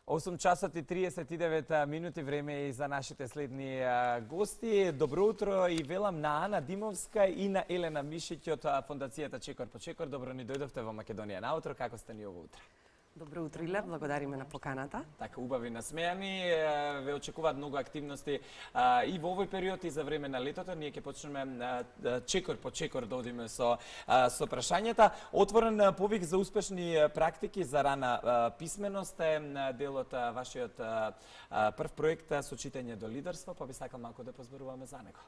8 часот и 39 минути, време и за нашите следни гости. Добро утро и велам на Ана Димовска и на Елена Мишиќ од фондацијата Чекор по Чекор. Добро ни дојдовте во Македонија наутро. Како сте ни ово утро? Добро утро, Иле, благодариме на поканата. Така, убави насмејани, ве очекуваат многу активности и во овој период и за време на летото. Ние ќе почнеме чекор по чекор да одиме со прашањата. Отворен повик за успешни практики за рана писменост е дел од вашиот прв проект со читање до лидерство, па би сакал малку да позборуваме за него.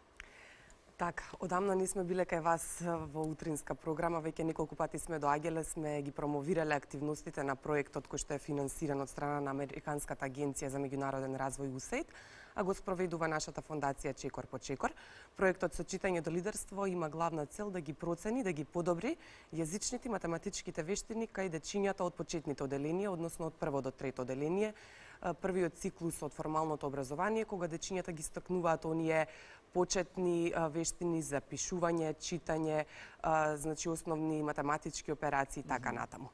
Така, одамна не сме биле кај вас во утринска програма, веќе неколку пати сме доаѓале, сме ги промовирале активностите на проектот кој што е финансиран од страна на Американската агенција за меѓународен развој USAID, а го спроведува нашата фондација Чекор по Чекор. Проектот со читање до лидерство има главна цел да ги процени, да ги подобри јазичните и математичките вештини кај дечињата од почетните оделенија, односно од прво до трето оделение, првиот циклус од формалното образование, кога дечињата ги стакнуваат оние почетни вештини за пишување, читање, значи основни математички операции и така натаму.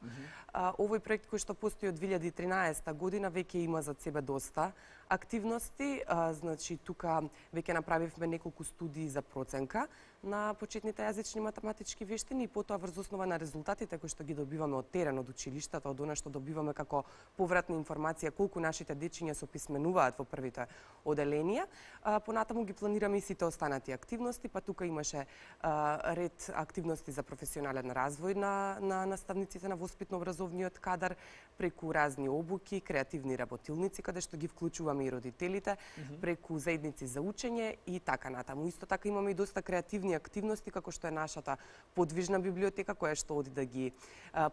Овој проект кој што постои од 2013 година веќе има за себе доста активности, значи тука веќе направивме неколку студии за проценка на почетните јазични математички вештини и потоа врз основа на резултатите кои што ги добиваме од терен, од училиштата, од она што добиваме како повратна информација колку нашите дечиња се описменуваат во првите оделенија, понатаму ги планираме и сите останати активности, па тука имаше ред активности за професионален развој на наставниците на воспитно-образовниот кадар, преку разни обуки, креативни работилници, каде што ги вклучуваме и родителите, преку заедници за учење и така натаму. Исто така имаме и доста креативни активности, како што е нашата подвижна библиотека, која што оди да ги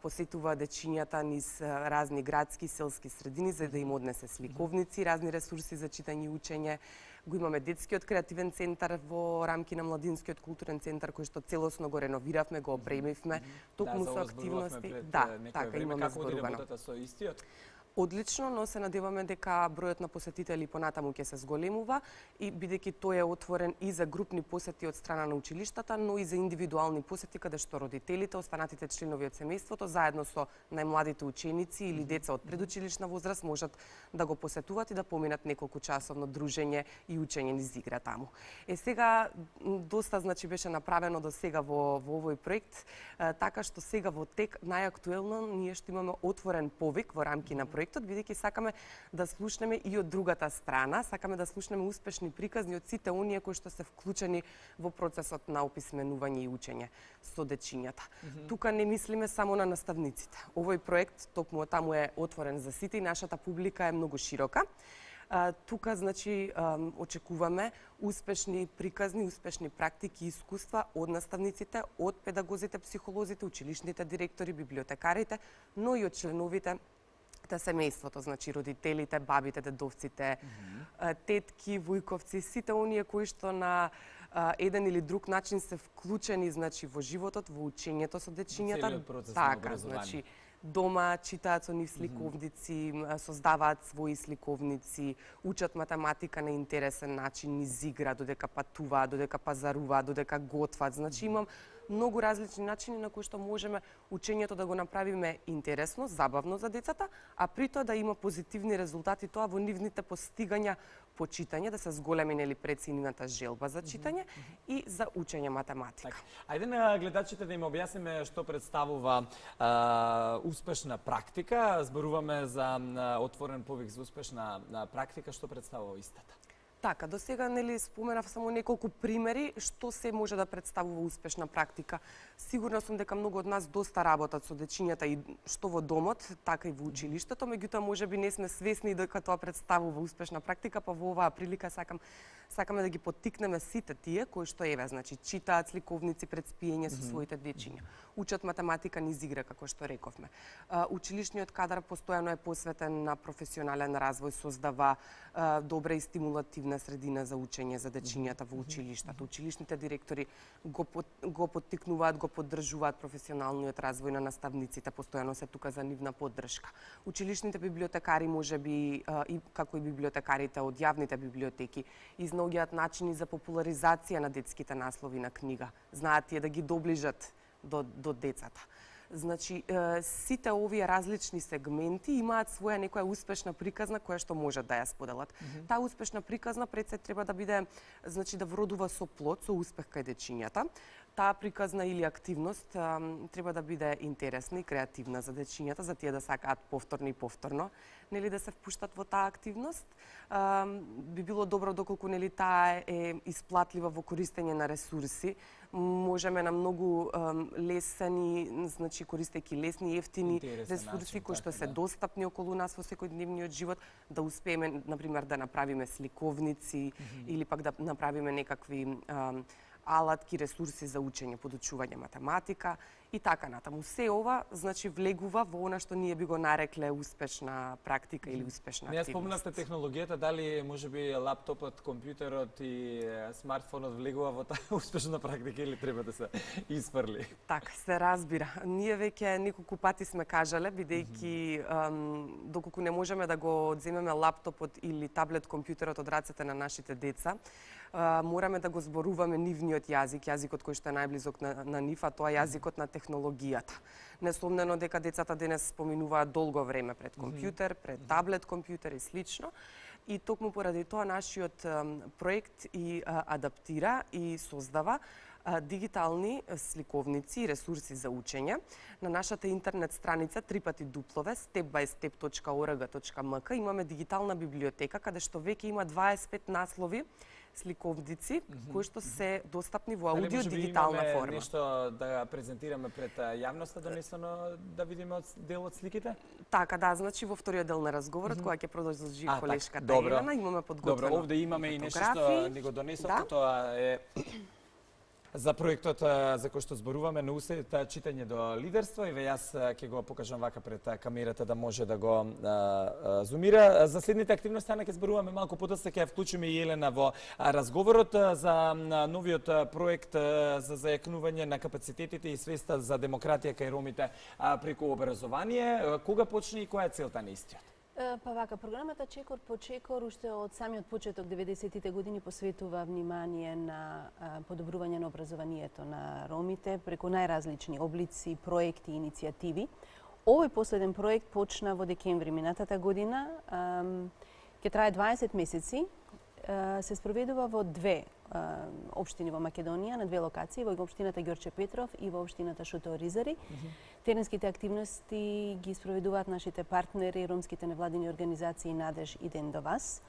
посетува дечињата низ разни градски, селски средини, за да им однесе сликовници, разни ресурси за читање и учење. Го имаме детскиот креативен центар во рамки на младинскиот културен центар, кој што целосно го реновиравме, го опремивме, токму со активности. Да, така имаме зборувано. Како со истиот? Одлично, но се надеваме дека бројот на посетители понатаму ќе се зголемува и бидејќи тој е отворен и за групни посети од страна на училиштата, но и за индивидуални посети каде што родителите, останатите членови од семејството заедно со најмладите ученици или деца од предучилишна возраст можат да го посетуваат и да поминат неколку часовно дружење и учење низ игра таму. Сега доста значи беше направено до сега во овој проект, така што сега во тек најактуелно ние што имаме отворен повик во рамки на проектот, бидејќи сакаме да слушнеме и од другата страна, сакаме да слушнеме успешни приказни од сите оние кои што се вклучени во процесот на описменување и учење со дечињата. Тука не мислиме само на наставниците. Овој проект токму таму е отворен за сите и нашата публика е многу широка. Тука, значи, очекуваме успешни приказни, успешни практики и искуства од наставниците, од педагозите, психолозите, училишните директори, библиотекарите, но и од членовите семејството, значи родителите, бабите, дедовците, тетки, вујковци, сите оние кои што на еден или друг начин се вклучени, значи, во животот, во учењето со дечињата. Целиот процес на образование. Значи, дома читаат со нив сликовници, создаваат своји сликовници, учат математика на интересен начин, низ игра, додека патуваат, додека пазаруваат, додека готват. Значи имам многу различни начини на кои што можеме учењето да го направиме интересно, забавно за децата, а при тоа да има позитивни резултати тоа во нивните постигања по читање, да се зголеми нели преценената желба за читање и за учење математика. Ајде на гледачите да им објасниме што представува успешна практика. Зборуваме за отворен повик за успешна практика, што представува истата? Така, до сега нели споменав само неколку примери што се може да представува успешна практика. Сигурна сум дека многу од нас доста работат со дечињата и што во домот, така и во училиштето, меѓутоа можеби не сме свесни дека тоа представува успешна практика, па во оваа прилика сакаме да ги поттикнеме сите тие кои што значи читаат сликовници пред спиење со своите дечиња. Учат математика низ игра, како што рековме. Училишниот кадар постојано е посветен на професионален развој, создава добра и стимулативна средина за учење за дечињата во училиштата. Училишните директори го поттикнуваат, го поддржуваат професионалниот развој на наставниците, постојано се тука за нивна поддршка. Училишните библиотекари можеби и како и библиотекарите од јавните библиотеки изнаоѓаат начини за популаризација на детските наслови на книга. Знаат тие да ги доближат до децата. Значи, сите овие различни сегменти имаат своја некоја успешна приказна која што можат да ја споделат. Таа успешна приказна пред се треба да биде, значи да вродува со плод, со успех кај дечињата. Таа приказна или активност треба да биде интересна и креативна за дечињата, за тие да сакаат повторно и повторно, нели да се впуштат во таа активност. Би било добро доколку нели таа е исплатлива во користење на ресурси. Можеме на многу лесни, значи користејќи лесни и ефтини ресурси кои што се достапни околу нас во секојдневниот живот, да успееме на пример да направиме сликовници или пак да направиме некакви алатки, ресурси за учење, подучување математика и така натаму. Се ова, значи, влегува во она што ние би го нарекле успешна практика или успешна активност. Не спомнавте технологијата, дали можеби лаптопот, компјутерот и смартфонот влегува во таа успешна практика или треба да се испрли? Така, се разбира. Ние веќе неколку пати сме кажале, бидејќи доколку не можеме да го одземеме лаптопот или таблет компјутерот од рацете на нашите деца, мораме да го зборуваме нивниот јазик, јазикот кој што е најблизок на нив, а тоа е јазикот на технологијата. Несомнено дека децата денес поминуваат долго време пред компјутер, пред таблет компјутер и слично. И токму поради тоа нашиот проект и адаптира и создава дигитални сликовници и ресурси за учење. На нашата интернет страница step-by-step.org.mk имаме дигитална библиотека каде што веќе има 25 наслови сликовници кои што се достапни во аудио дигитална форма. Имаме нешто да презентираме пред јавноста донесено да видиме дел од сликите? Така, да, значи во вториот дел на разговорот која ќе продолжи колешката Елена, имаме подготвено. Добро, овде имаме и нешто што ни го донесовте, тоа е за проектот за кој што зборуваме на усет читање до лидерство и јас ќе го покажам вака пред камерата да може да го зумира. За следните активности ќе зборуваме малку подоцна, ќе ја вклучиме и Елена во разговорот за новиот проект за зајакнување на капацитетите и свеста за демократија кај ромите преку образование. Кога почне и која е целта на истиот? Па вака, програмата Чекор по Чекор уште од самиот почеток 90-тите години посветува внимание на подобрување на образованието на ромите преку најразлични облици, проекти и иницијативи. Овој последен проект почна во декември минатата година, ќе трае 20 месеци, се спроведува во две општини во Македонија, на две локации, во општината Ѓорче Петров и во општината Шуто Оризари. Теренските активности ги спроведуваат нашите партнери, ромските невладини организации Надеж и Ден до вас.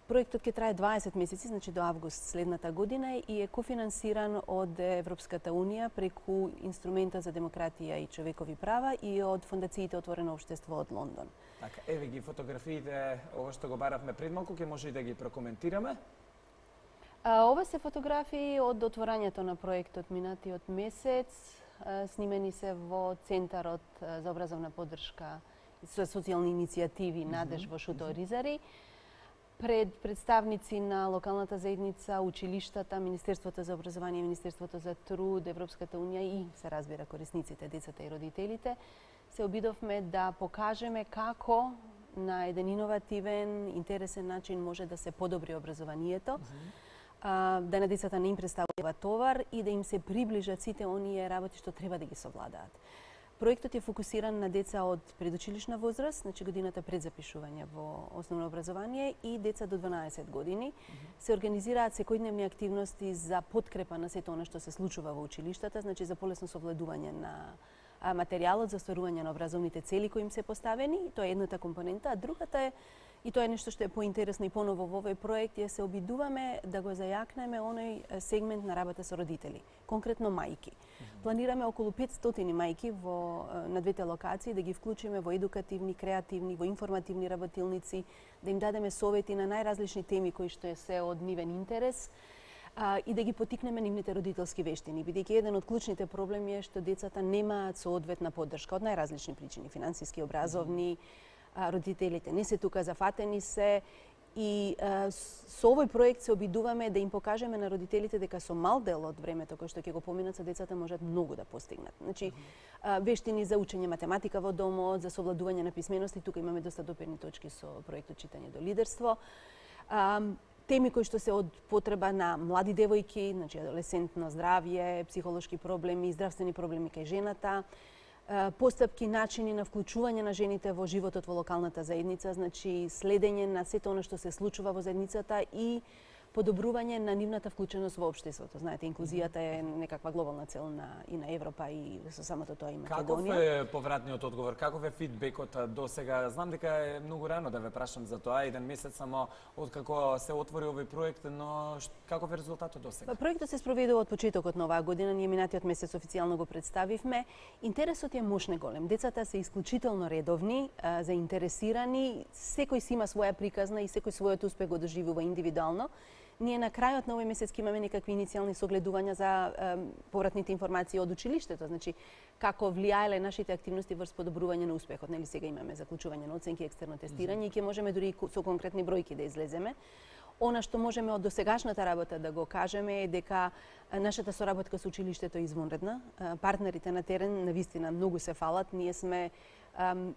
Проектот ќе трае 20 месеци, значи до август следната година и е кофинансиран од Европската Унија преку инструментот за демократија и човекови права и од фондациите Отворено општество од Лондон. Така, еве ги фотографиите, ова што го баравме пред малку, ќе може и да ги прокоментираме. Ова се фотографии од отворањето на проектот минатиот месец, снимени се во Центарот за образовна поддршка со социјални иницијативи Надеж во Шуто Оризари, пред представници на локалната заедница, училиштата, Министерството за образование, Министерството за труд, Европската Унија и се разбира корисниците, децата и родителите, се обидовме да покажеме како на еден иновативен, интересен начин може да се подобри образованието, да на децата не им представува товар и да им се приближат сите оние работи што треба да ги совладаат. Проектот е фокусиран на деца од предучилишна возраст, значи годината пред запишување во основно образование и деца до 12 години. Се организираат секојдневни активности за подкрепа на сето она што се случува во училиштата, значи за полесно совладување на материјалот за остварување на образовните цели кои им се поставени. Тоа е едната компонента, а другата е, и тоа е нешто што е поинтересно и поново во овој проект, е се обидуваме да го зајакнеме оној сегмент на работа со родители, конкретно мајки. Планираме околу 500 мајки на двете локации да ги вклучиме во едукативни, креативни, во информативни работилници, да им дадеме совети на најразлични теми кои што се од нивен интерес и да ги потикнеме нивните родителски вештини, бидејќи еден од клучните проблеми е што децата немаат соодветна поддршка од најразлични причини, финансиски, образовни, родителите не се тука, зафатени се и со овој проект се обидуваме да им покажеме на родителите дека со мал дел од времето кој што ќе го поминат со децата можат многу да постигнат. Значи, вештини за учење математика во домот, за совладување на писмености, тука имаме доста допирни точки со проектот Читање до лидерство. теми кои што се од потреба на млади девојки, значи адолесцентно здравје, психолошки проблеми, здравствени проблеми кај жената, постапки, начини на вклучување на жените во животот во локалната заедница, значи следење на сето она што се случува во заедницата и подобрување на нивната вклученост во општеството. Знаете, инклузијата е некаква глобална цел и на Европа и со самото тоа и Македонија. Каков е повратниот одговор? Каков е фидбекот до сега? Знам дека е многу рано да ве прашам за тоа, 1 месец само откако се отвори овој проект, но каков е резултатот до сега? Проектот се спроведува од почетокот на оваа година, ние минатиот месец официјално го представивме. Интересот е мощно голем. Децата се исклучително редовни, заинтересирани, секој си има своја приказна и секој својот успех го доживува индивидуално. Ние на крајот на овој месец ќе имаме некакви иницијални согледувања за повратните информации од училиштето, значи како влијаеле нашите активности врз подобрување на успехот. Нели сега имаме заклучување на оценки, екстерно тестирање и ќе можеме дури со конкретни бројки да излеземе. Она што можеме од досегашната работа да го кажеме е дека нашата соработка со училиштето е извонредна. Партнерите на терен навистина многу се фалат. Ние сме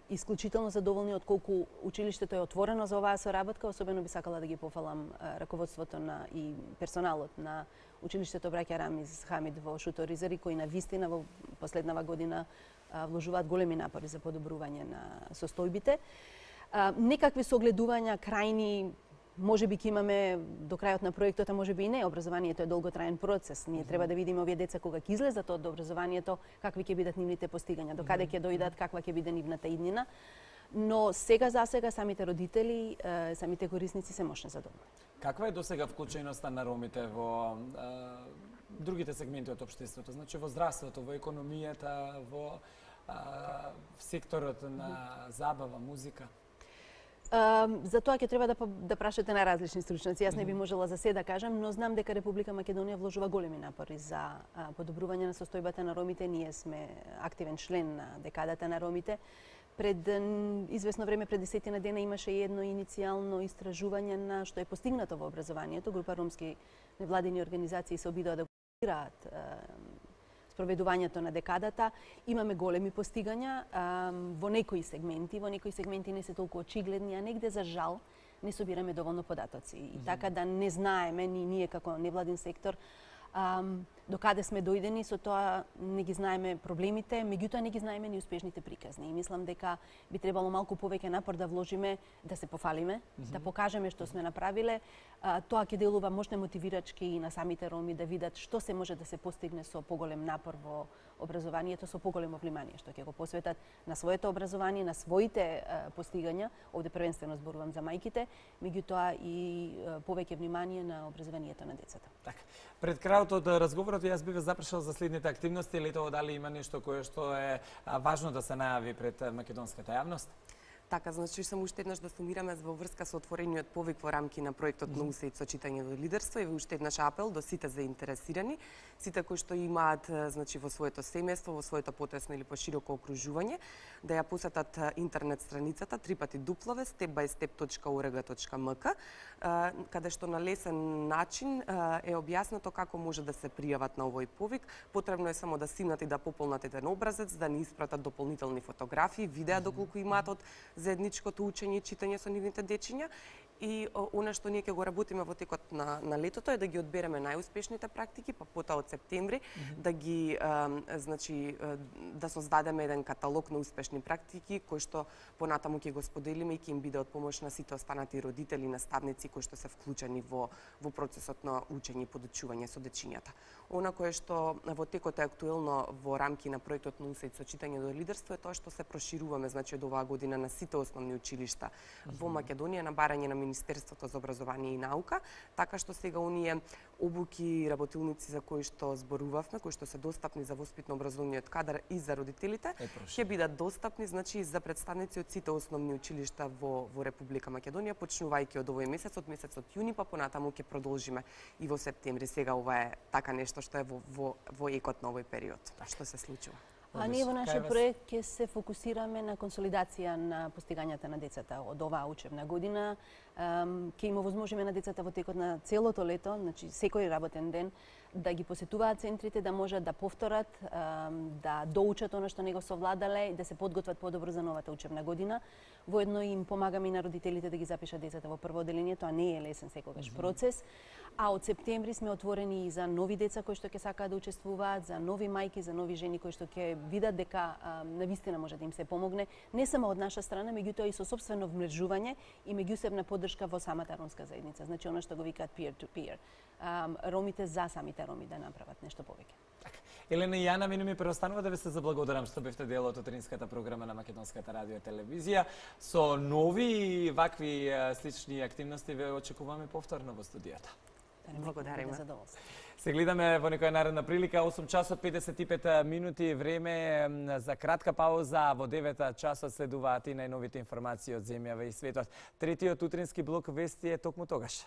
исклучително задоволни од колку училиштето е отворено за оваа соработка. Особено би сакала да ги пофалам раководството и персоналот на училиштето Браќа Рамиз Хамид во Шуторизари, кои навистина во последнава година вложуваат големи напори за подобрување на состојбите. Некакви согледувања крајни може би ќе имаме до крајот на проектот, а може би и не. Образованието е долготраен процес. Ние треба да видиме овие деца кога ќе излезат од образованието, какви ќе бидат нивните постигања, до каде ќе дојдат, каква ќе биде нивната иднина. Но сега за сега самите родители, самите корисници се мощно задоволни. Каква е досега вклученоста на ромите во другите сегменти од општеството, значи во здравството, во економијата, во секторот на забава, музика? За тоа ќе треба да прашате на различни стручњаци. Јас не би можела за се да кажам, но знам дека Република Македонија вложува големи напори за подобрување на состојбата на ромите. Ние сме активен член на декадата на ромите. Пред известно време, пред 10 дена, имаше едно иницијално истражување на што е постигнато во образованието. Група ромски невладини организации се обидоа да го реализираат спроведувањето на декадата. Имаме големи постигања во некои сегменти не се толку очигледни, а негде за жал не собираме доволно податоци. И така да не знаеме ни ние како невладин сектор до каде сме дојдени, со тоа не ги знаеме проблемите, меѓутоа не ги знаеме ни успешните приказни. И мислам дека би требало малку повеќе напор да вложиме, да се пофалиме, да покажеме што сме направиле. Тоа ќе делува мощно мотивирачки и на самите роми да видат што се може да се постигне со поголем напор во образованието, со поголемо внимание што ќе го посветат на своето образование, на своите постигања. Овде првенствено зборувам за мајките, меѓутоа и повеќе внимание на образованието на децата. Така. Пред крајот од разговорот јас би ве запрашал за следните активности. Летово дали има нешто кое што е важно да се најави пред македонската јавност? Така, значи само уште еднаш да сумираме во врска со отворениот повик во рамки на проектот на УСАИД со читање до лидерство и уште еднаш апел до сите заинтересирани, сите кои што имаат значи во своето семејство, во своето потесно или пошироко окружување, да ја посетат интернет страницата www.step-by-step.org.mk, каде што на лесен начин е објаснато како може да се пријават на овој повик. Потребно е само да симнат и да пополнат еден образец, да ни испратат дополнителни фотографии, видеа доколку имаат од заедничкото учење и читање со нивните дечиња. И она што ние ќе го работиме во текот на летото е да ги одбереме најуспешните практики, па потоа од септември да ги значи да создадеме еден каталог на успешни практики кои што понатаму ќе го споделиме и ќе им биде од помош на сите останати родители, наставници кои што се вклучени во процесот на учење и подучување со дечињата. Она кое што во текот е актуелно во рамки на проектот на УСАИД со читање до лидерство е тоа што се прошируваме значи од оваа година на сите основни училишта во Македонија на барање на Министерството за образование и наука, така што сега оние обуки и работилници за кои што зборувавме, кои што се достапни за воспитно-образовниот кадар и за родителите, ќе бидат достапни значи за представници од сите основни училишта во Република Македонија, почнувајќи од овој месец, од месецот јуни, па понатаму ќе продолжиме и во септември. Сега ова е така нешто што е во екот на овој период. Што се случува? А ние во нашиот проект ќе се фокусираме на консолидација на постигањата на децата од оваа учебна година. Ќе им овозможиме на децата во текот на целото лето, значи секој работен ден, да ги посетуваат центрите, да можат да повторат, да доучат она што не го совладале и да се подготват подобро за новата учебна година. Воедно им помагаме и на родителите да ги запишат децата во прво одделение, тоа не е лесен секогаш процес. А од септември сме отворени и за нови деца кои што ќе сакаат да учествуваат, за нови мајки, за нови жени кои што ќе видат дека навистина може да им се помогне, не само од наша страна, меѓутоа и со сопствено вмрежување и меѓусебна поддршка во самата ромска заедница. Значи она што го викаат peer to peer. Ромите за самите роми да направат нешто повеќе. Елена и Јана, мене ми преостанува да ве се заблагодарам што бевте дел од утринската програма на Македонската радио и телевизија. Со нови и вакви слични активности ве очекуваме повторно во студиото. Благодариме. Се гледаме во некоја наредна прилика. 8 часот 55 минути време за кратка пауза. Во 9 часот следуваат и најновите информации од земјава и светот. Третиот утрински блок вести е токму тогаш.